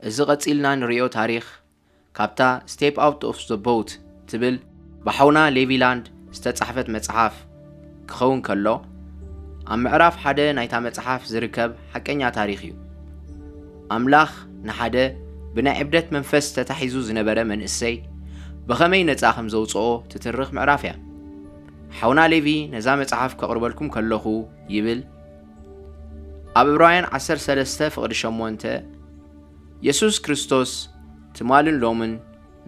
እዚ ቀጺልና ንርእዮ ታሪኽ ካብታ Step Out of the Boat ትብል ብሓውና ሌቪ ላንድ ዝተጻሕፈት መጽሓፍ ክኸውን ከሎ፣ ኣብ ምዕራፍ ሓደ ናይታ መጽሓፍ ዝርከብ ሓቀኛ ታሪኽ እዩ። ኣምላኽ ንሓደ ብናይ ዕብደት መንፈስ ተታሒዙ ዝነበረ መንእሰይ ብኸመይ ነጻ ከም ዘውጽኦ ትትርኽ ምዕራፍ እያ። ሓውና ሌቪ ነዛ መጽሓፍ ከቕርበልኩም ከለኹ ይብል፣ ኣብ ዕብራውያን ዓሰርተ ሰለስተ ፍቕዲ ሸሞንተ፣ የሱስ ክርስቶስ ትማልን ሎምን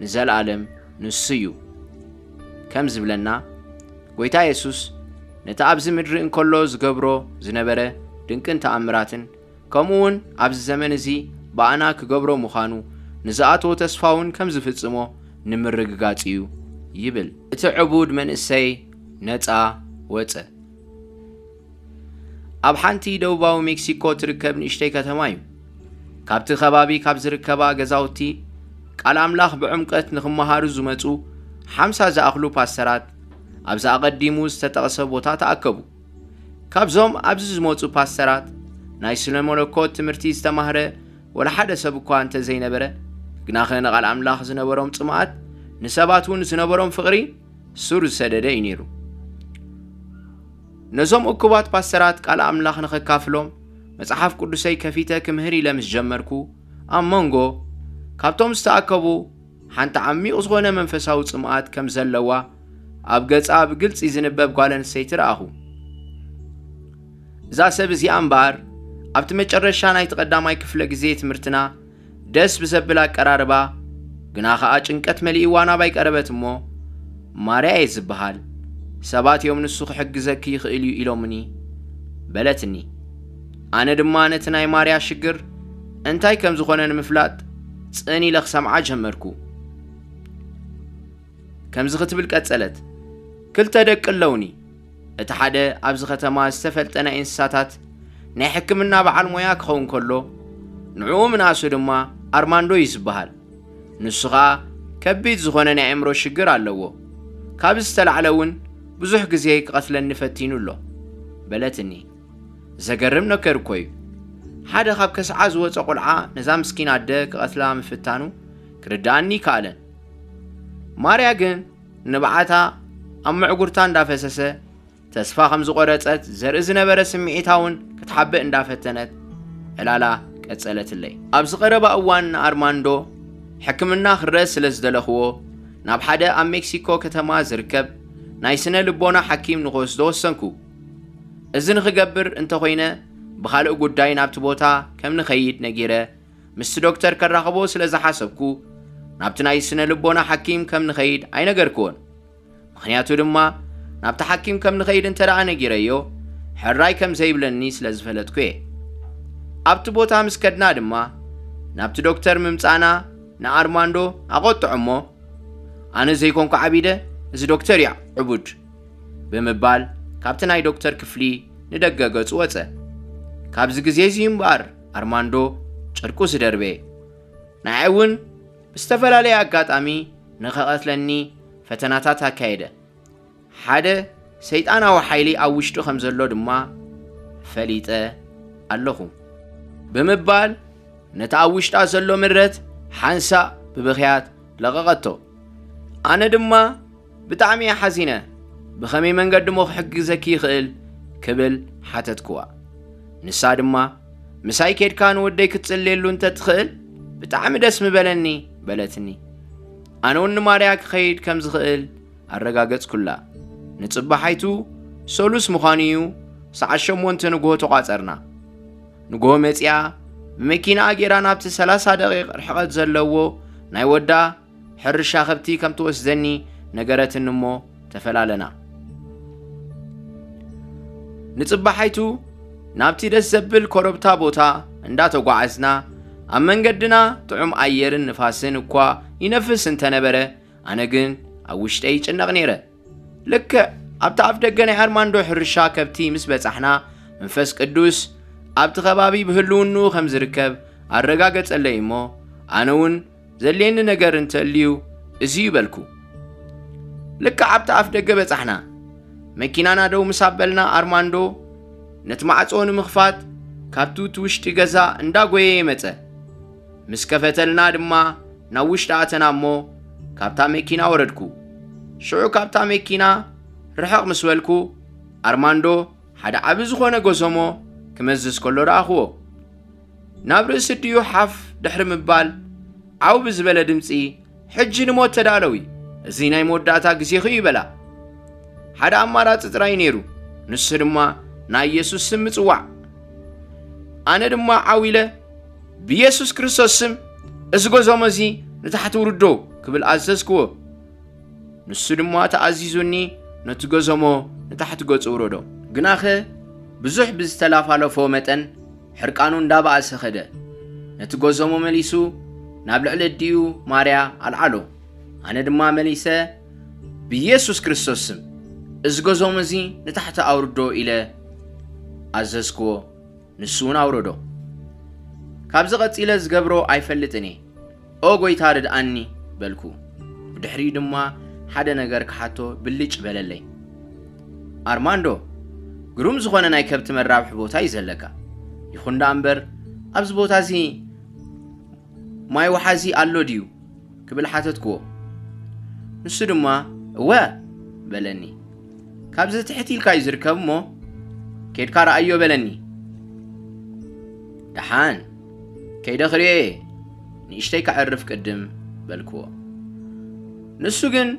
ንዘለኣለም ንሱ እዩ ከም ዝብለና፣ ጎይታ የሱስ ነቲ ኣብዚ ምድሪ እንከሎ ዝገብሮ ዝነበረ ድንቅን ተኣምራትን፣ ከምኡ እውን ኣብዚ ዘመን እዚ ብኣና ክገብሮ ምዃኑ ንዝኣተዎ ተስፋ እውን ከም ዝፍጽሞ ንምርግጋጽ እዩ ይብል። እቲ ዕቡድ መንእሰይ ነጻ ወጸ። ኣብ ሓንቲ ደቡባዊ ሜክሲኮ ትርከብ ንእሽተይ ከተማ እዩ። ካብቲ ከባቢ ካብ ዝርከባ ገዛውቲ ቃል ኣምላኽ ብዕምቀት ንኽመሃሩ ዝመጹ ሓምሳ ዝኣኽሉ ፓስተራት ኣብዚ ኣቐዲሙ ዝተጠቕሰ ቦታ ተኣከቡ። ካብዞም ኣብዚ ዝመጹ ፓስተራት ናይ ስነ መለኮት ትምህርቲ ዝተማህረ ወላ ሓደ ሰብ እኳ እንተ ዘይነበረ፣ ግናኸ ንቓል ኣምላኽ ዝነበሮም ጽምኣት፣ ንሰባት እውን ዝነበሮም ፍቕሪ ሱር ዝሰደደ እዩ ነይሩ። ነዞም እኩባት ፓስተራት ቃል ኣምላኽ ንኸካፍሎም መጽሓፍ ቅዱሰይ ከፊተ ክምህር ኢለ ምስ ጀመርኩ፣ ኣብ መንጎ ካብቶም ዝተኣከቡ ሓንቲ ዓሚቕ ዝኾነ መንፈሳዊ ጽምኣት ከም ዘለዋ ኣብ ገጻ ብግልጺ ዝንበብ ጓል ኣንስተይቲ ረኣኹ። እዛ ሰብ እዚኣ እምበኣር ኣብቲ መጨረሻ ናይቲ ቀዳማይ ክፍለ ግዜ ትምህርትና ደስ ብዘብል ኣቀራርባ፣ ግና ኸኣ ጭንቀት መሊእዋ ናባይ ቀረበት እሞ፣ "ማርያ እየ ዝበሃል፣ ሰባት እዮም ንሱ ክሕግዘኪ ይኽእል እዩ ኢሎምኒ" በለትኒ። ኣነ ድማ ነቲ ናይ ማርያ ሽግር እንታይ ከም ዝኾነ ንምፍላጥ ጽን ኢለ ክሰምዓ ጀመርኩ። ከምዚ ክትብል ቀጸለት፣ "ክልተ ደቂ ኣለውኒ። እቲ ሓደ ኣብዚ ከተማ ዝተፈልጠ ናይ እንስሳታት ናይ ሕክምና በዓል ሞያ ክኸውን ከሎ፣ ንዕኡ ምንኣሱ ድማ ኣርማንዶ እዩ ዝበሃል። ንሱ ኸኣ ከቢድ ዝኾነ ናይ ኣእምሮ ሽግር ኣለዎ። ካብ ዝተላዕለ እውን ብዙሕ ግዜ ክቐትለኒ ፈቲኑ ኣሎ" በለትኒ። ዘገርም ነገር እኮ እዩ። ሓደ ካብ ከስዓ ዝወጸ ቆልዓ ነዛ ምስኪን ኣደ ክቐትላ ምፍታኑ ክርድኣኒ ይከኣለን። ማርያ ግን ንብዓታ ኣብ ምዕጉርታ እንዳፈሰሰ ተስፋ ከም ዝቖረጸት ዘርኢ ዝነበረ ስምዒታ እውን ክትሓብእ እንዳፈተነት ዕላላ ቀጸለትለይ። ኣብዚ ቀረባ እዋን ንኣርማንዶ ሕክምና ክረአ ስለ ዝደለኽዎ ናብ ሓደ ኣብ ሜክሲኮ ከተማ ዝርከብ ናይ ስነ ልቦና ሓኪም ንኽወስዶ ወሰንኩ። እዚ ንኽገብር እንተኾይነ ብኻልእ ጉዳይ ናብቲ ቦታ ከም ንኸይድ ነጊረ ምስቲ ዶክተር ከራኽቦ ስለ ዝሓሰብኩ ናብቲ ናይ ስነ ልቦና ሓኪም ከም ንኸይድ ኣይነገርክዎን። ምኽንያቱ ድማ ናብቲ ሓኪም ከም ንኸይድ እንተ ደኣ ነጊረዮ ሕራይ ከም ዘይብለኒ ስለ ዝፈለጥኩ እየ። ኣብቲ ቦታ ምስ ከድና ድማ ናብቲ ዶክተር ምምጻእና ንኣርማንዶ ኣቖጥዖ እሞ፣ "ኣነ ዘይኮንኩ ዓቢደ፣ እዚ ዶክተር እዩ ዕቡድ" ብምባል ካብቲ ናይ ዶክተር ክፍሊ ንደገ ገጹ ወጸ። ካብዚ ግዜ እዚ እምበኣር ኣርማንዶ ጨርቁ ዝደርበ፣ ንዓይ እውን ብዝተፈላለየ ኣጋጣሚ ንኸቐትለኒ ፈተናታት ኣካየደ። ሓደ ሰይጣናዊ ሓይሊ ኣብ ውሽጡ ከም ዘሎ ድማ ፈሊጠ ኣለኹ ብምባል ነቲ ኣብ ውሽጣ ዘሎ ምረት ሓንሳእ ብብኽያት ለቐቐቶ። ኣነ ድማ ብጣዕሚ እየ ሓዚነ፣ "ብኸመይ መንገዲ እሞ ክሕግዘኪ ይኽእል?" ክብል ሓተትክዋ። ንሳ ድማ፣ "ምሳይ ኬድካ ንወደይ ክትጽልየሉ እንተ ትኽእል ብጣዕሚ ደስ ምበለኒ" በለትኒ። ኣነ እውን ንማርያ ክኸይድ ከም ዝኽእል ኣረጋገጽኩላ። ንጽባሓይቱ ሰሉስ ምዃኑ እዩ፣ ሰዓት ሸሞንተ ንግሆ ተቋጸርና። ንግሆ መጺኣ ብመኪናኣ ጌራ ናብቲ ሰላሳ ደቂቕ ርሕቐት ዘለዎ ናይ ወዳ ሕርሻ ከብቲ ከም ትወስደኒ ነገረትኒ እሞ ተፈላለና። ንጽባሓይቱ ናብቲ ደስ ዘብል ኮረብታ ቦታ እንዳተጓዓዝና ኣብ መንገድና ጥዑም ኣየርን ንፋስን እኳ ይነፍስ እንተነበረ፣ ኣነ ግን ኣብ ውሽጠይ ይጭነቕ ነይረ። ልክዕ ኣብቲ ኣፍ ደገ ናይ ኣርማንዶ ሕርሻ ከብቲ ምስ በጻሕና፣ መንፈስ ቅዱስ ኣብቲ ከባቢ ብህልውንኡ ከም ዝርከብ ኣረጋገጸለይ እሞ፣ ኣነ እውን ዘድልየኒ ነገር እንተልዩ እዚ እዩ በልኩ። ልክዕ ኣብቲ ኣፍ ደገ በጻሕና። መኪናና ደው ምስ ኣበልና፣ ኣርማንዶ ነቲ ማዕጾ ንምኽፋት ካብቲ እቲ ውሽጢ ገዛ እንዳጎየየ መጸ። ምስ ከፈተልና ድማ ናብ ውሽጢ ኣተና እሞ ካብታ መኪና ወረድኩ። ሽዑ ካብታ መኪና ርሕቕ ምስ በልኩ ኣርማንዶ ሓደ ዓቢ ዝኾነ ጎዞሞ ክመዝዝ ከሎ ረኣኽዎ። ናብ ርእሲ ድዩ ሓፍ ድሕሪ ምባል ዓው ብዝበለ ድምጺ ሕጂ ንሞት ተዳለዊ፣ እዚ ናይ መወዳእታ ግዜኹ እዩ በላ። ሓደ ኣማራጺ ጥራይ ነይሩ፣ ንሱ ድማ ናይ ኢየሱስ ስም ምጽዋዕ። ኣነ ድማ ዓው ኢለ ብኢየሱስ ክርስቶስ ስም እዚ ጎዞሞ እዚ ንታሕቲ ውርዶ ክብል ኣዘዝክዎ። ንሱ ድማ ተኣዚዙኒ ነቲ ጎዞሞ ንታሕቲ ገጹ ውረዶ። ግናኸ ብዙሕ ብዝተላፋለፎ መጠን ሕርቃኑ እንዳበኣሰ ኸደ። ነቲ ጎዞሞ መሊሱ ናብ ልዕሊ ኣዲኡ ማርያ ኣልዓሎ። ኣነ ድማ መሊሰ ብኢየሱስ ክርስቶስ ስም እዚ ጎዞሞ እዚ ንታሕቲ ኣውርዶ ኢለ ኣዘዝክዎ። ንሱ እውን ኣውረዶ። ካብዚ ቀጺለ ዝገብሮ ኣይፈልጥን እየ። ኦ ጎይታ ርድኣኒ በልኩ። ብድሕሪኡ ድማ ሓደ ነገር ክሓቶ ብልጭ በለለይ። ኣርማንዶ፣ ግሩም ዝኾነ ናይ ከብቲ መራብሒ ቦታ እዩ ዘለካ። ይኹን ደኣ እምበር ኣብዚ ቦታ እዚ ማይ ወሓዚ ኣሎ ድዩ ክብል ሓተትክዎ። ንሱ ድማ እወ በለኒ። ካብዚ ትሕት ኢልካ እዩ ዝርከብ እሞ ኬድካ ረኣዮ በለኒ። ደሓን ከይደ ክርእዮ እየ፣ ንእሽተይ ከዕርፍ ቅድም በልክዎ። ንሱ ግን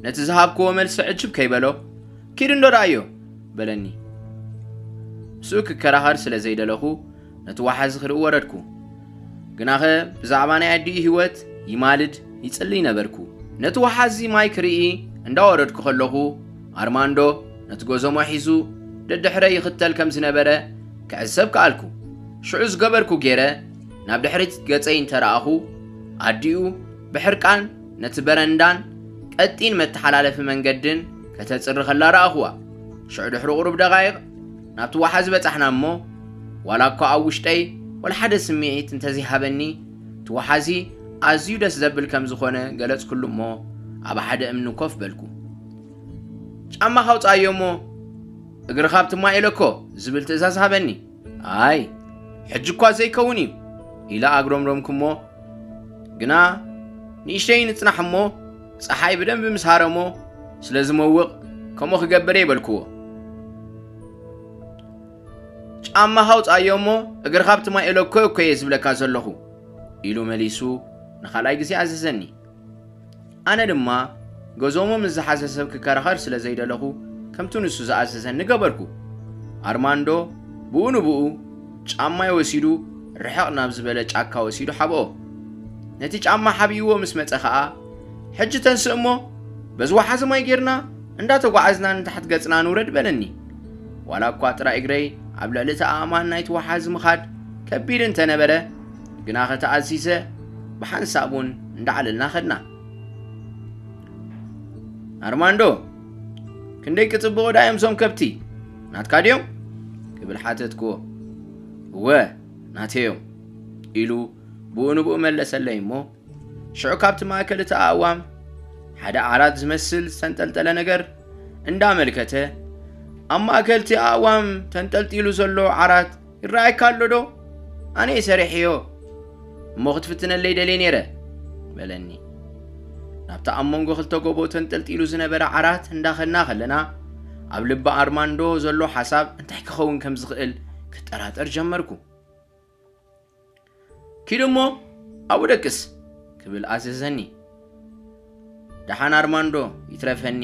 ነቲ ዝሃብክዎ መልሲ ዕጅብ ከይበሎ ኪድ እንዶ ረኣዮ በለኒ። ምስኡ ክከራኸር ስለ ዘይደለኹ ነቲ ወሓዚ ክርኢ ወረድኩ። ግናኸ ብዛዕባ ናይ ኣዲኡ ህይወት ይማልድ ይጽልይ ነበርኩ። ነቲ ወሓዚ ማይ ክርኢ እንዳወረድኩ ከለኹ ኣርማንዶ ነቲ ጎዞሞ ሒዙ ደድሕረ ይኽተል ከም ዝነበረ ክዕዘብ ከኣልኩ። ሽዑ ዝገበርኩ ገይረ ናብ ድሕሪት ገጸይ እንተረኣኹ ኣዲኡ ብሕርቃን ነቲ በረንዳን ቀጢን መተሓላለፊ መንገድን ከተጽሪ ከላ ረኣኹዋ። ሽዑ ድሕሪ ቁሩብ ደቓይቕ ናብቲ ወሓዚ በጻሕና እሞ ዋላ እኳ ኣብ ውሽጠይ ወላ ሓደ ስምዒት እንተዘይሃበኒ እቲ ወሓዚ ኣዝዩ ደስ ዘብል ከም ዝኾነ ገለጽኩሉ እሞ ኣብ ሓደ እምኒ ኮፍ በልኩ። ጫማ ካውጻዮ እሞ እግርኻ ኣብቲ ማይ ኢለኮ ዝብል ትእዛዝ ሃበኒ። ኣይ ሕጂ እኳ ዘይከውን እዩ ኢለ ኣግረምረምኩ እሞ ግና ንእሽተይ ንጽናሕ እሞ ጸሓይ ብደንቢ ምስ ሃረሞ ስለ ዝመውቕ ከምኡ ክገብር እየ በልክዎ። ጫማ ካውጻዮ እሞ እግርኻ ኣብቲ ማይ ኢለኮ እኮ እየ ዝብለካ ዘለኹ ኢሉ መሊሱ ንኻልኣይ ግዜ ኣዘዘኒ። ኣነ ድማ ገዞሞ ምስ ዝሓዘ ሰብ ክከራኸር ስለ ዘይደለኹ ከምቲ ንሱ ዝኣዘዘኒ ገበርኩ። ኣርማንዶ ብኡ ንብኡ ጫማይ ወሲዱ ርሕቕ ናብ ዝበለ ጫካ ወሲዱ ሓብኦ። ነቲ ጫማ ሓብይዎ ምስ መጸ ኸኣ ሕጂ ተንስእ እሞ በዚ ወሓዚ ማይ ጌርና እንዳተጓዓዝና ንታሕት ገጽና ንውረድ በለኒ። ዋላ እኳ ጥራይ እግረይ ኣብ ልዕሊ እቲ ኣእማን ናይቲ ወሓዚ ምኻድ ከቢድ እንተነበረ ግና ከተኣዚዘ ብሓንሳብ እውን እንዳዓለልና ኸድና። ኣርማንዶ፣ ክንደይ ክጽብቑ ዳዮም እዞም ከብቲ ናትካ ድዮም ክብል ሓተትክዎ። እወ ናተዮም ኢሉ ብኡ ንብኡ መለሰለይ እሞ ሽዑ ካብቲ ማእከል እቲ ኣእዋም ሓደ ዓራት ዝመስል ዝተንጠልጠለ ነገር እንዳመልከተ ኣብ ማእከል እቲ ኣእዋም ተንጠልጢሉ ዘሎ ዓራት ይረኣየካ ኣሎ ዶ? ኣነ እየ ሰሪሐዮ እሞ ክትፍትነለይ ደልየ ነይረ በለኒ። ናብቲ ኣብ መንጎ ክልተ ጎቦ ተንጠልጢሉ ዝነበረ ዓራት እንዳኸድና ከለና ኣብ ልቢ ኣርማንዶ ዘሎ ሓሳብ እንታይ ክኸውን ከም ዝኽእል ክጠራጠር ጀመርኩ። ኪድ እሞ ኣብኡ ደቅስ ክብል ኣዘዘኒ። ደሓን ኣርማንዶ ይትረፈኒ፣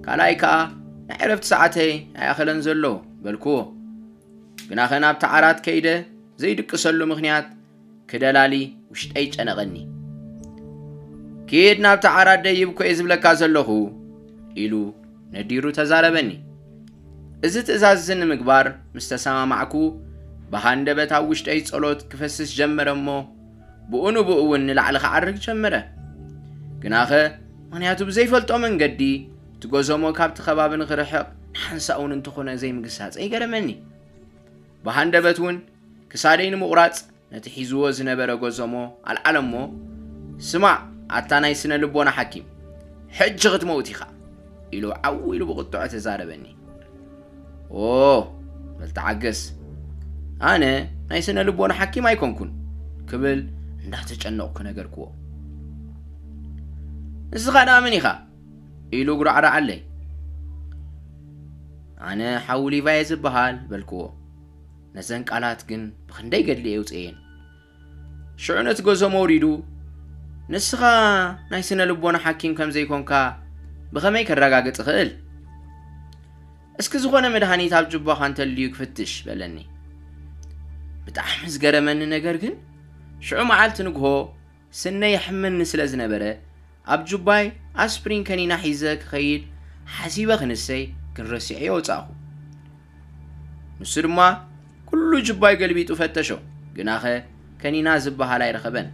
ካልኣይ ከኣ ናይ ዕረፍቲ ሰዓተይ ኣይኣኸለን ዘሎ በልክዎ። ግናኸ ናብቲ ዓራት ከይደ ዘይድቅሰሉ ምኽንያት ክደላሊ ውሽጠይ ጨነቐኒ። ኪድ ናብቲ ዓራት ደይብ እኮ እየ ዝብለካ ዘለኹ ኢሉ ነዲሩ ተዛረበኒ። እዚ ትእዛዝ እዚ ንምግባር ምስ ተሰማማዕኩ ብሃንደበት ኣብ ውሽጠይ ጸሎት ክፈስስ ጀመረ እሞ ብኡ ንብኡ እውን ንላዕሊ ክዓርግ ጀመረ። ግናኸ ምኽንያቱ ብዘይፈልጦ መንገዲ እቲ ጎዞሞ ካብቲ ከባቢ ንኽርሕቕ ንሓንሳእ እውን እንተኾነ ዘይምግሳጸይ ገረመኒ። ብሃንደበት እውን ክሳደይ ንምቑራጽ ነቲ ሒዝዎ ዝነበረ ጎዞሞ ኣልዓለ እሞ ስማዕ ኣታ ናይ ስነ ልቦና ሓኪም ሕጂ ክትመውት ኢኻ ኢሉ ዓው ኢሉ ብቑጥዖ ተዛረበኒ። ኦ በል ተዓገስ ኣነ ናይ ስነ ልቦና ሓኪም ኣይኮንኩን ክብል እንዳተጨነቕኩ ነገርክዎ። "ንስኻ ደኣ መን ኢኻ?" ኢሉ ጉራዕራዓለይ። "ኣነ ሓው ሊቫየ ዝበሃል" በልክዎ። ነዘን ቃላት ግን ብኽንደይ ገድሊ የውፅኤን። ሽዑ ነቲ ጎዞም ኣውሪዱ፣ "ንስኻ ናይ ስነ ልቦና ሓኪም ከም ዘይኮንካ ብኸመይ ከረጋግጽ እኽእል? እስኪ ዝኾነ መድሃኒት ኣብ ጁባኻ እንተልዩ ክፍትሽ" በለኒ። ብጣዕሚ ዝገረመኒ ነገር ግን፣ ሽዑ መዓልቲ ንግሆ ስነይ የሕመኒ ስለ ዝነበረ፣ ኣብ ጁባይ ኣስፕሪን ከኒና ሒዘ ክኸይድ ሓሲበ ክንሰይ ግን ረሲዐዮ ወጻእኹ። ንሱ ድማ ኩሉ ጁባይ ገልቢጡ ፈተሾ፣ ግናኸ ከኒና ዝበሃል ኣይረኸበን።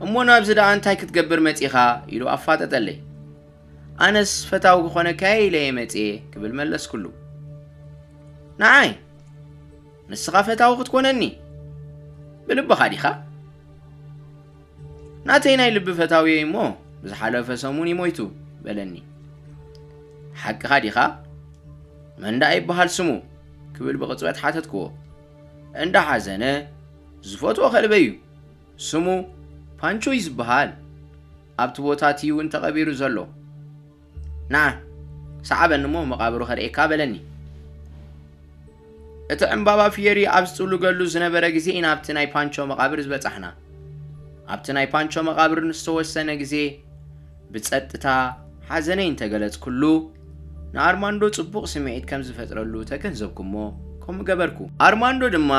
"እሞ ናብዚ ደኣ እንታይ ክትገብር መጺኻ?" ኢሉ ኣፋጠጠለይ። "ኣነስ ፈታዊ ክኾነካየ ኢለ እየ መጽየ" ክብል መለስኩሉ። "ንዓይ ንስኻ ፈታዊ ክትኮነኒ ብልብኻ ዲኻ?" "ናተይ ናይ ልቢ ፈታዊ እሞ ብዝሓለፈ ሰሙን እዩ ሞይቱ" በለኒ። "ሓቅኻ ዲኻ? መን ደኣ ይበሃል ስሙ?" ክብል ብቕጽበት ሓተትክዎ። "እንዳ ሓዘነ ዝፈትዎ ከልበይ እዩ። ስሙ ፓንቾ እዩ ዝበሃል። ኣብቲ ቦታ እቲ እውን ተቐቢሩ ዘሎ። ንዓ፣ ሰዓበኒ እሞ መቓብሩ ከርእየካ" በለኒ። እቲ ዕምባባ ፍየሪ ኣብ ዝጥውልገሉ ዝነበረ ግዜ ኢና ኣብቲ ናይ ፓንቾ መቓብር ዝበጻሕና። ኣብቲ ናይ ፓንቾ መቓብር ንዝተወሰነ ግዜ ብጸጥታ ሓዘነይ እንተገለጽኩሉ፣ ንኣርማንዶ ጽቡቕ ስምዒት ከም ዝፈጥረሉ ተገንዘብኩ እሞ ከምኡ ገበርኩ። ኣርማንዶ ድማ፣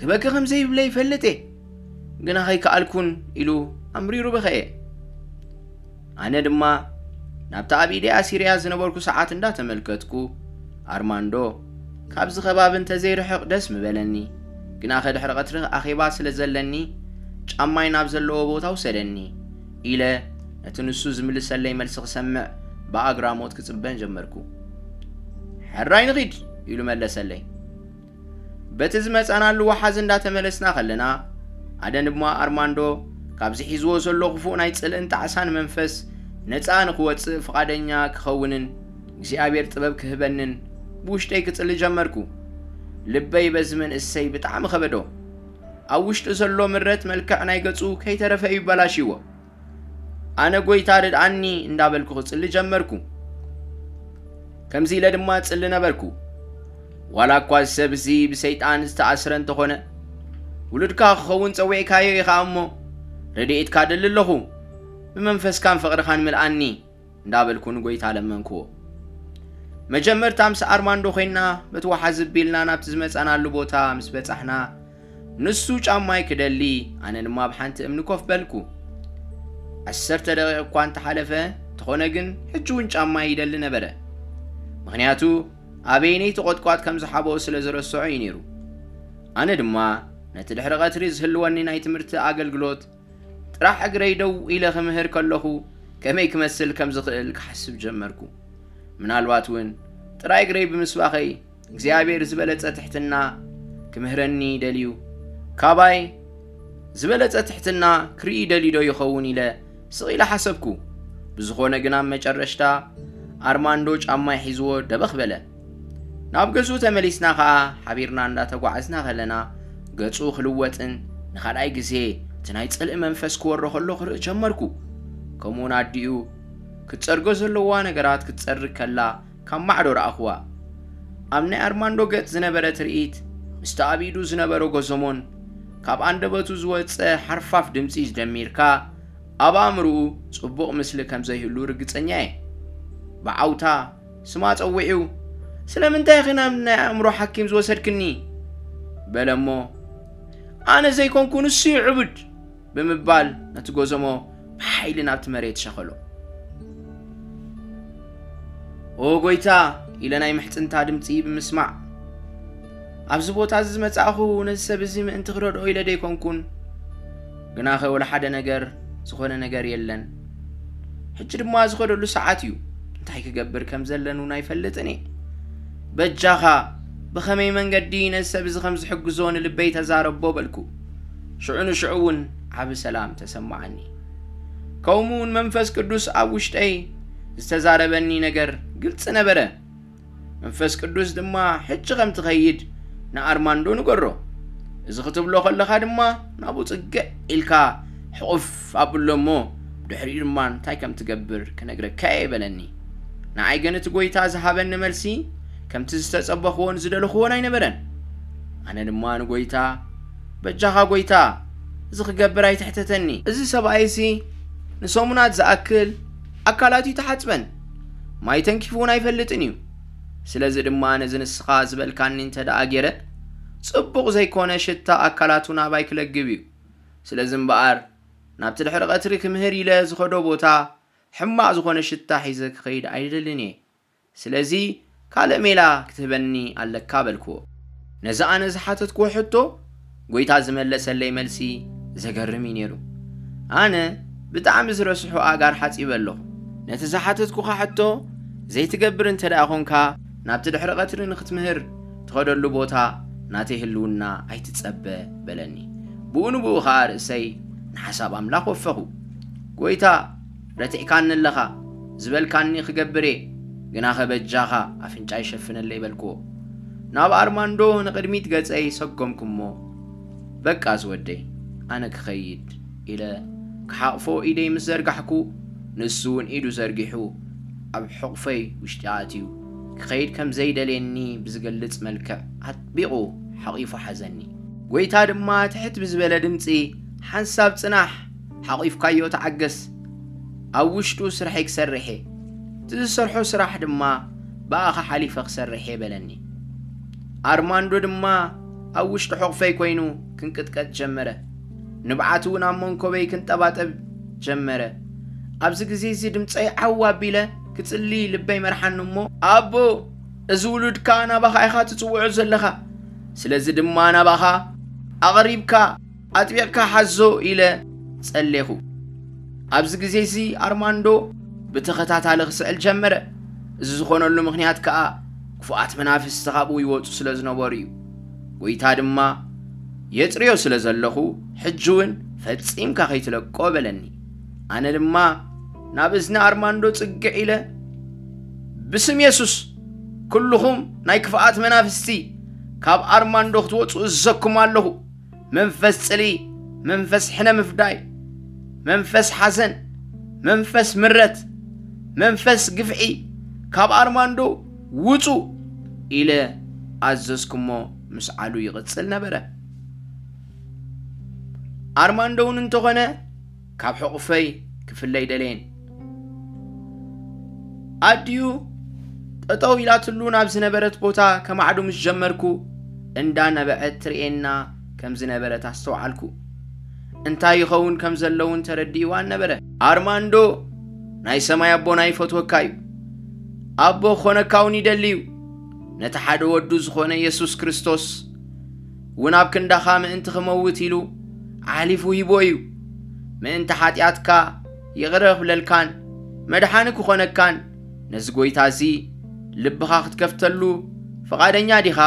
"ክበኪ ከም ዘይብለ ይፈልጥ እየ፣ ግና ከይከኣልኩን" ኢሉ ኣምሪሩ በኸየ። ኣነ ድማ ናብቲ ኣብ ኢደ ኣሲረያ ዝነበርኩ ሰዓት እንዳተመልከትኩ፣ ኣርማንዶ፣ "ካብዚ ከባቢ እንተዘይርሕቕ ደስ ምበለኒ፣ ግናኸ ድሕሪ ቀትሪ ኣኼባ ስለ ዘለኒ ጫማይ ናብ ዘለዎ ቦታ ውሰደኒ" ኢለ ነቲ ንሱ ዝምልሰለይ መልሲ ክሰምዕ ብኣግራሞት ክጽበን ጀመርኩ። "ሕራይ ንኺድ" ኢሉ መለሰለይ። በቲ ዝመጻናሉ ወሓዚ እንዳተመለስና ከለና፣ ኣደን ድማ ኣርማንዶ ካብዚ ሒዝዎ ዘሎ ክፉእ ናይ ጽልእን ጣዕሳን መንፈስ ነጻ ንኽወጽእ ፍቓደኛ ክኸውንን እግዚኣብሔር ጥበብ ክህበንን ብውሽጠይ ክጽሊ ጀመርኩ። ልበይ በዚ መንእሰይ ብጣዕሚ ከበዶ። ኣብ ውሽጡ ዘሎ ምረት መልክዕ ናይ ገጹ ከይተረፈ እዩ በላሽዎ። ኣነ "ጎይታ ርድኣኒ" እንዳበልኩ ክጽሊ ጀመርኩ። ከምዚ ኢለ ድማ ጽሊ ነበርኩ። "ዋላ እኳ እዚ ሰብ እዚ ብሰይጣን ዝተኣስረ እንተኾነ፣ ውሉድካ ክኸውን ጸዊዕካዮ ኢኻ እሞ፣ ረድኤትካ ደሊ ኣለኹ። ብመንፈስካን ፍቕርኻን ምልኣኒ" እንዳበልኩ ንጎይታ ለመንክዎ። መጀመርታ ምስ ኣርማንዶ ኮይና በቲ ወሓዚ ቢልና ናብቲ ዝመጻናሉ ቦታ ምስ በጻሕና፣ ንሱ ጫማይ ክደሊ፣ ኣነ ድማ ኣብ ሓንቲ እምኒ ኮፍ በልኩ። ዓሰርተ ደቂቕ እኳ እንተሓለፈ እንተኾነ ግን፣ ሕጂ እውን ጫማይ ይደሊ ነበረ። ምኽንያቱ ኣበይነይ ተቖጥቋጥ ከም ዝሓብኦ ስለ ዝረስዖ እዩ ነይሩ። ኣነ ድማ ነቲ ድሕሪ ቀትሪ ዝህልወኒ ናይ ትምህርቲ ኣገልግሎት ጥራሕ እግረይ ደው ኢለ ክምህር ከለኹ ከመይ ክመስል ከም ዝኽእል ክሓስብ ጀመርኩ። ምናልባት እውን ጥራይ እግረይ ብምስባኸይ እግዚኣብሔር ዝበለጸ ትሕትና ክምህረኒ ደልዩ፣ ካባይ ዝበለጸ ትሕትና ክርኢ ደልዩ ዶ ይኸውን ኢለ ስቕ ኢለ ሓሰብኩ። ብዝኾነ ግን ኣብ መጨረሽታ ኣርማንዶ ጫማይ ሒዝዎ ደበኽ በለ። ናብ ገዝኡ ተመሊስና ኸኣ ሓቢርና እንዳተጓዓዝና ከለና ገጹ ክልወጥን ንኻልኣይ ግዜ እቲ ናይ ጽልኢ መንፈስ ክወሮ ከሎ ክርኢ ጀመርኩ። ከምኡውን ኣዲኡ ክትጸርጎ ዘለዋ ነገራት ክትጸርግ ከላ ካብ ማዕዶ ረኣኹዋ። ኣብ ናይ ኣርማንዶ ገጽ ዝነበረ ትርኢት ምስቲ ኣብ ኢዱ ዝነበሮ ጎዞሞን ካብ ኣንደበቱ ዝወጸ ሓርፋፍ ድምጺ ደሚርካ ኣብ ኣእምርኡ ጽቡቕ ምስሊ ከም ዘይህሉ ርግጸኛ እየ። ብዓውታ ስማ ጸዊዑ፣ "ስለምንታይ ኢኺ ናብ ናይ ኣእምሮ ሓኪም ዝወሰድክኒ?" በለ እሞ፣ "ኣነ ዘይኮንኩ ንሱ እዩ ዕቡድ" ብምባል ነቲ ጎዞሞ ብሓይሊ ናብቲ መሬት ሸኸሎ። "ኦ ጎይታ" ኢለ ናይ ምሕጽንታ ድምጺ ብምስማዕ፣ "ኣብዚ ቦታ እዚ ዝመጻእኹ ነዚ ሰብ እዚ ምእንቲ ክረድኦ ኢለ ደይኮንኩን፣ ግናኸ ወላ ሓደ ነገር ዝኾነ ነገር የለን። ሕጂ ድማ ዝኸደሉ ሰዓት እዩ። እንታይ ክገብር ከም ዘለኒ እውን ኣይፈልጥን እየ። በጃኻ ብኸመይ መንገዲ ነዚ ሰብ እዚ ከም ዝሕግዞ ንልበይ ተዛረቦ" በልኩ። ሽዑ ንሽዑ እውን ዓቢ ሰላም ተሰማዓኒ። ከምኡ እውን መንፈስ ቅዱስ ኣብ ውሽጠይ ዝተዛረበኒ ነገር ግልጺ ነበረ። መንፈስ ቅዱስ ድማ፣ "ሕጂ ከም ትኸይድ ንኣርማንዶ ንገሮ። እዚ ክትብሎ ከለኻ ድማ ናብኡ ጽግዕ ኢልካ ሕቑፍ ኣብሎ እሞ፣ ድሕሪኡ ድማ እንታይ ከም ትገብር ክነግረካ እየ በለኒ። ንዓይ ግን እቲ ጐይታ ዝሃበኒ መልሲ ከምቲ ዝተጸበኽዎን ዝደለኽዎን ኣይነበረን። ኣነ ድማ ንጐይታ፣ "በጃኻ ጐይታ፣ እዚ ክገብር ኣይትሕተተኒ። እዚ ሰብኣይሲ ንሰሙናት ዝኣክል ኣካላቱ ኣይተሓጽበን፣ ማይ ተንኪፉ እውን ኣይፈልጥን እዩ። ስለዚ ድማ ነዚ ንስኻ ዝበልካኒ እንተ ደኣ ገይረ፣ ጽቡቕ ዘይኮነ ሽታ ኣካላቱ ናባይ ክለግብ እዩ። ስለዚ እምበኣር፣ ናብቲ ድሕሪ ቀትሪ ክምህር ኢለ ዝኸዶ ቦታ፣ ሕማቕ ዝኾነ ሽታ ሒዘ ክኸይድ ኣይደልን እየ። ስለዚ ካልእ ሜላ ክትህበኒ ኣለካ" በልክዎ። ነዚ ኣነ ዝሓተትክዎ ሕቶ፣ ጐይታ ዝመለሰለይ መልሲ ዘገርም እዩ ነይሩ። ኣነ ብጣዕሚ ዝረስሑ ኣእጋር ሓጺበ ኣለኹ። ነቲ ዝሓተትኩኻ ሕቶ ዘይትገብር እንተ ደኣ ኾንካ፣ ናብቲ ድሕሪ ቀትሪ ንኽትምህር ትኸደሉ ቦታ ናተይ ህልውና ኣይትጸበ በለኒ። ብኡ ንብኡ ኸኣ ርእሰይ ንሓሳብ ኣምላኽ ወፈኹ። "ጐይታ፣ ረቲዕካኒ ኣለኻ፣ ዝበልካኒ ክገብር እየ፣ ግናኸ በጃኻ ኣፍንጫይ ሸፍነለይ" በልክዎ። ናብ ኣርማንዶ ንቕድሚት ገጸይ ሰጎምኩ እሞ፣ "በቃ ዝወደይ፣ ኣነ ክኸይድ" ኢለ ክሓቕፎ ኢደይ ምስ ዘርጋሕኩ፣ ንሱ እውን ኢዱ ዘርጊሑ ኣብ ሕቑፈይ ውሽጢ ኣትዩ ክኸይድ ከም ዘይደልየኒ ብዝገልጽ መልክዕ ኣጥቢቑ ሓቒፉ ሓዘኒ። ጐይታ ድማ ትሕት ብዝበለ ድምጺ፣ "ሓንሳብ ጽናሕ፣ ሓቒፍካዮ ተዓገስ፣ ኣብ ውሽጡ ስርሐይ ክሰርሕ እየ፣ እቲ ዝሰርሖ ስራሕ ድማ ብኣኻ ሓሊፈ ክሰርሕ እየ" በለኒ። ኣርማንዶ ድማ ኣብ ውሽጢ ሕቑፈይ ኮይኑ ክንቅጥቀጥ ጀመረ። ንብዓት እውን ኣብ መንኮበይ ክንጠባጠብ ጀመረ። ኣብዚ ግዜ እዚ ድምፀይ ዓው ኣቢለ ክጽሊ ልበይ መርሓኒ እሞ፣ "ኣቦ፣ እዚ ውሉድካ ናባኻ ኢኻ ትጽውዖ ዘለኻ። ስለዚ ድማ ናባኻ ኣቕሪብካ ኣጥቢቕካ ሓዞ" ኢለ ጸሌኹ። ኣብዚ ግዜ እዚ ኣርማንዶ ብተኸታታሊ ክስዕል ጀመረ። እዚ ዝኾነሉ ምኽንያት ከኣ ክፉኣት መናፍስቲ ካብኡ ይወጹ ስለ ዝነበሩ እዩ። ጐይታ ድማ፣ "የጽርዮ ስለ ዘለኹ፣ ሕጂ እውን ፈጺምካ ከይትለቆ" በለኒ። ኣነ ድማ ናብ እዝኒ ኣርማንዶ ጽግዕ ኢለ፣ "ብስም የሱስ፣ ኩልኹም ናይ ክፍኣት መናፍስቲ፣ ካብ ኣርማንዶ ክትወጹ እዘኩም ኣለኹ። መንፈስ ጽልኢ፣ መንፈስ ሕነ ምፍዳይ፣ መንፈስ ሓዘን፣ መንፈስ ምረት፣ መንፈስ ግፍዒ፣ ካብ ኣርማንዶ ውጹ" ኢለ ኣዘዝኩሞ፣ ምስዓሉ ይቕጽል ነበረ። ኣርማንዶ እውን እንተኾነ ካብ ሕቑፈይ ክፍለ ኣይደለየን። ኣዲኡ ጠጠው ኢላትሉ ናብ ዝነበረት ቦታ ከማዕዱ ምስ ጀመርኩ፣ እንዳነበዐት ትርእየና ከም ዝነበረት ኣስተውዓልኩ። እንታይ ይኸውን ከም ዘሎ እውን ተረዲእዋ ነበረ። "ኣርማንዶ፣ ናይ ሰማይ ኣቦና ይፈትወካ እዩ። ኣቦ ክኾነካ እውን ይደሊ እዩ። ነቲ ሓደ ወዱ ዝኾነ የሱስ ክርስቶስ እውን ኣብ ክንዳኻ ምእንቲ ክመውት ኢሉ ኣሕሊፉ ሂቦ እዩ። ምእንቲ ሓጢኣትካ ይቕረ ክብለልካን መድሓኒ ክኾነካን ነዚ ጐይታ እዚ ልብኻ ክትከፍተሉ ፍቓደኛ ዲኻ?"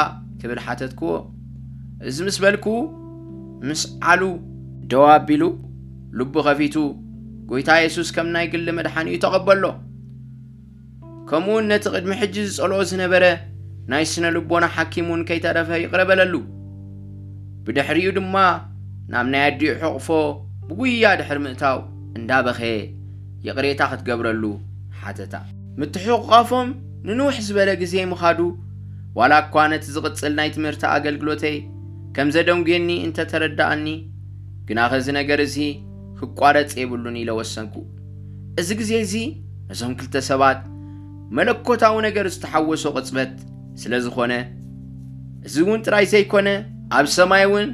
ክብል ሓተትክዎ። እዚ ምስ በልኩ፣ ምስዓሉ ደው ኣቢሉ፣ ልቡ ከፊቱ፣ ጐይታ የሱስ ከም ናይ ግሊ መድሓኒኡ ተቐበሎ። ከምኡውን ነቲ ቅድሚ ሕጂ ዝጸልኦ ዝነበረ ናይ ስነ ልቦና ሓኪም እውን ከይተረፈ ይቕረ በለሉ። ብድሕሪኡ ድማ ናብ ናይ ኣዲኡ ሕቕፎ ብጉያ ድሕሪ ምእታው እንዳበኸየ ይቕሬታ ክትገብረሉ ሓተታ። ምትሕቑቓፎም ንንውሕ ዝበለ ግዜ ምኻዱ፣ ዋላ እኳ ነቲ ዝቕጽል ናይ ትምህርቲ ኣገልግሎተይ ከም ዘደንጉየኒ እንተተረዳኣኒ፣ ግናኸ እዚ ነገር እዚ ክቋረጽ የብሉን ኢለ ወሰንኩ። እዚ ግዜ እዚ ነዞም ክልተ ሰባት መለኮታዊ ነገር ዝተሓወሶ ቅጽበት ስለ ዝኾነ፣ እዚ እውን ጥራይ ዘይኮነ፣ ኣብ ሰማይ እውን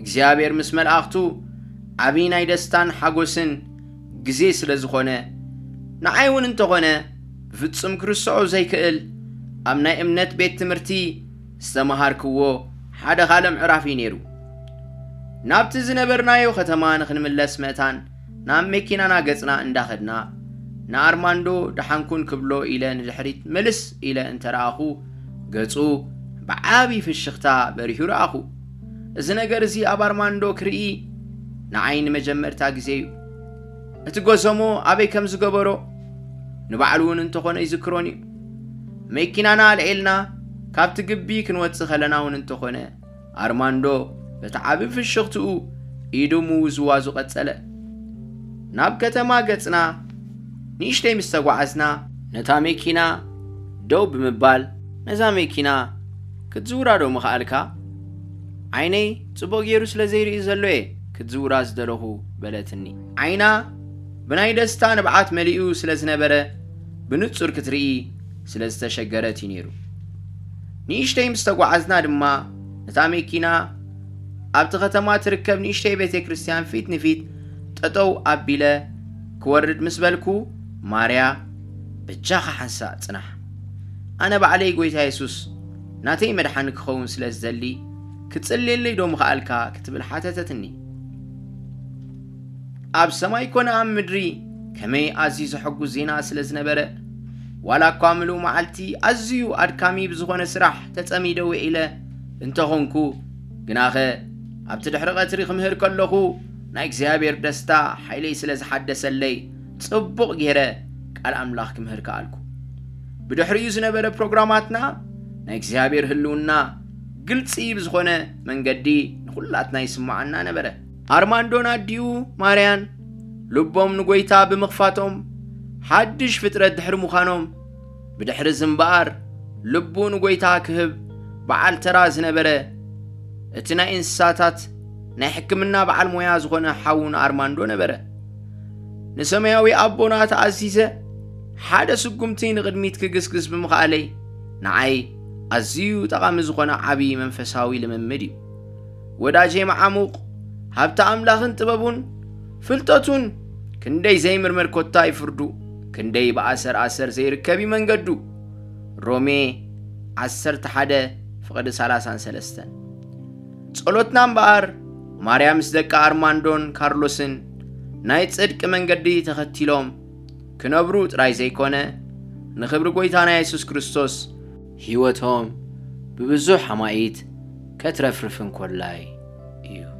እግዚኣብሔር ምስ መላእኽቱ ዓብዪ ናይ ደስታን ሓጎስን ግዜ ስለ ዝኾነ፣ ንዓይ እውን እንተኾነ ብፍጹም ክርስዖ ዘይክእል ኣብ ናይ እምነት ቤት ትምህርቲ ዝተመሃርክዎ ሓደ ካልእ ምዕራፍ እዩ ነይሩ። ናብቲ ዝነበርናዮ ከተማ ንኽንምለስ መእታን ናብ መኪናና ገጽና እንዳኸድና፣ ንኣርማንዶ ደሓንኩን ክብሎ ኢለ ንድሕሪት ምልስ ኢለ እንተ ረኣኹ፣ ገጹ ብዓቢ ፍሽኽታ በሪሁ ረኣኹ። እዚ ነገር እዚ ኣብ ኣርማንዶ ክርኢ ንዓይ ንመጀመርታ ግዜ እዩ። እቲ ጎሰሞ ኣበይ ከም ዝገበሮ ንባዕሉ እውን እንተኾነ ይዝክሮን እዩ። መኪናና ኣልዒልና ካብቲ ግቢ ክንወጽእ ከለና እውን እንተኾነ፣ ኣርማንዶ በቲ ዓቢ ፍሽኽትኡ ኢዱ ምውዝዋዙ ቀጸለ። ናብ ከተማ ገጽና ንእሽተይ ምስ ተጓዓዝና፣ ነታ መኪና ደው ብምባል፣ "ነዛ መኪና ክትዝውራ ዶ ምኸኣልካ? ዓይነይ ጽቡቕ ገይሩ ስለ ዘይርኢ ዘሎ እየ ክትዝውራ ዝደለኹ" በለትኒ። ዓይና ብናይ ደስታ ንብዓት መሊኡ ስለ ዝነበረ፣ ብንጹር ክትርኢ ስለ ዝተሸገረት እዩ ነይሩ። ንእሽተይ ምስ ተጓዓዝና ድማ፣ ነታ መኪና ኣብቲ ከተማ ትርከብ ንእሽተይ ቤተ ክርስቲያን ፊት ንፊት ጠጠው ኣቢለ ክወርድ ምስ በልኩ፣ "ማርያ፣ በጃኻ ሓንሳእ ጽናሕ። ኣነ ባዕለይ ጎይታ የሱስ ናተይ መድሓኒ ክኸውን ስለ ዝደሊ፣ ክትጽልየለይ ዶ ምኸኣልካ?" ክትብል ሓተተትኒ። ኣብ ሰማይ ኮነ ኣብ ምድሪ ከመይ ኣዝዩ ዘሐጉስ ዜና ስለ ዝነበረ፣ ዋላ እኳ ምሉእ መዓልቲ ኣዝዩ ኣድካሚ ብዝኾነ ስራሕ ተጸሚደ ውዒለ እንተኾንኩ፣ ግናኸ ኣብቲ ድሕሪ ቀትሪ ክምህር ከለኹ ናይ እግዚኣብሔር ደስታ ሓይለይ ስለ ዝሓደሰለይ፣ ጽቡቕ ገይረ ቃል ኣምላኽ ክምህር ከኣልኩ። ብድሕሪኡ ዝነበረ ፕሮግራማትና ናይ እግዚኣብሔር ህልውና ግልጺ ብዝኾነ መንገዲ ንኹላትና ይስምዓና ነበረ። ኣርማንዶን ኣዲኡ ማርያን ልቦም ንጎይታ ብምኽፋቶም፣ ሓድሽ ፍጥረት ድሕሪ ምዃኖም፣ ብድሕሪ እዚ እምበኣር ልቡ ንጎይታ ክህብ በዓል ተራ ዝነበረ፣ እቲ ናይ እንስሳታት ናይ ሕክምና በዓል ሞያ ዝኾነ ሓዉ ንኣርማንዶ ነበረ። ንሰማያዊ ኣቦና ተኣዚዘ ሓደ ስጉምቲ ንቕድሚት ክግስግስ ብምኽኣለይ፣ ንዓይ ኣዝዩ ጠቓሚ ዝኾነ ዓቢ መንፈሳዊ ልምምድ እዩ። ወዳጄ መዓሙቕ፣ ሃብቲ ኣምላኽን ጥበቡን ፍልጠቱን ክንደይ ዘይምርመር ኮታ እዩ ፍርዱ፣ ክንደይ ብኣሰር ኣሰር ዘይርከብ እዩ መንገዱ። ሮሜ ዓሰርተ ሓደ ፍቕዲ ሰላሳን ሰለስተን። ጸሎትና እምበኣር፣ ማርያም ምስ ደቂ ኣርማንዶን ካርሎስን ናይ ጽድቂ መንገዲ ተኸቲሎም ክነብሩ ጥራይ ዘይኮነ፣ ንኽብሪ ጎይታና የሱስ ክርስቶስ ህይወቶም ብብዙሕ ኣማኢት ከትረፍርፍ እንኮላይ እዩ።